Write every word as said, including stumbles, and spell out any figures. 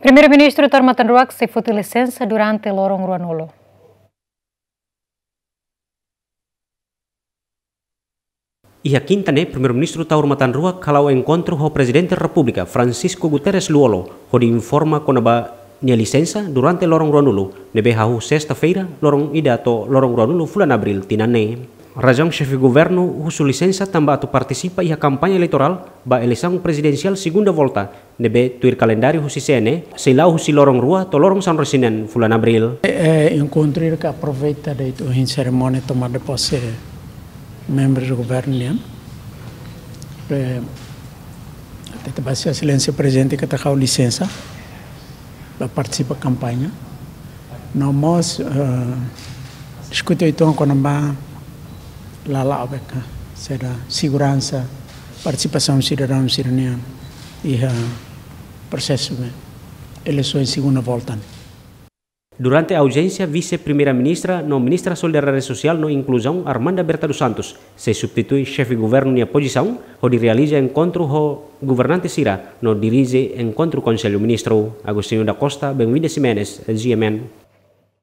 Primeiru-Ministru Taur Matan Ruak sei foti lisensa durante loron ruanulu. Iha kinta ne'e, Primeiru-Ministru Taur Matan Ruak hala'o enkontru ho Prezidente Repúblika, Francisco Guterres Lú-Olo, hodi informa kona-ba nia lisensa durante loron ruanulu, ne'ebé hahú sesta-feira, loron ida to'o loron ruanulu fulan Abríl tinan ne'e. Razaun xefe governu husu lisensa tanba atu partisipa iha kampaña eleitorál ba eleisaun prezidensiál segunda volta, ne'ebé tuir kalendáriu husi C N E, sei la'o husi loron rua to'o loron sanulu-resin-neen fulan Abríl. Eh, enkontru ida ke aproveita de'it ohin serimónia tomada de posse membru do governu nian. Eh, ita ba Sua Exelénsia Prezidente katak ha'u lisensa ba partisipa kampaña. No mós, eh, diskute uitoan kona-ba lala'ok, saida, seguransa, partisipasaun sidadaun sira-nian iha prosesu ne'e, eleisaun segunda volta ne'e. Durante audiénsia, Vise-Primeira-Ministra no Ministra Solidariedade Sosiál no Inkluzaun, Armanda Berta dos Santos, sei substitui xefe governu nia pozisaun, hodi realiza enkontru ho governante sira no dirije enkontru Konsellu Ministru. Agostinho da Costa, Benvinda Ximenes, G M N.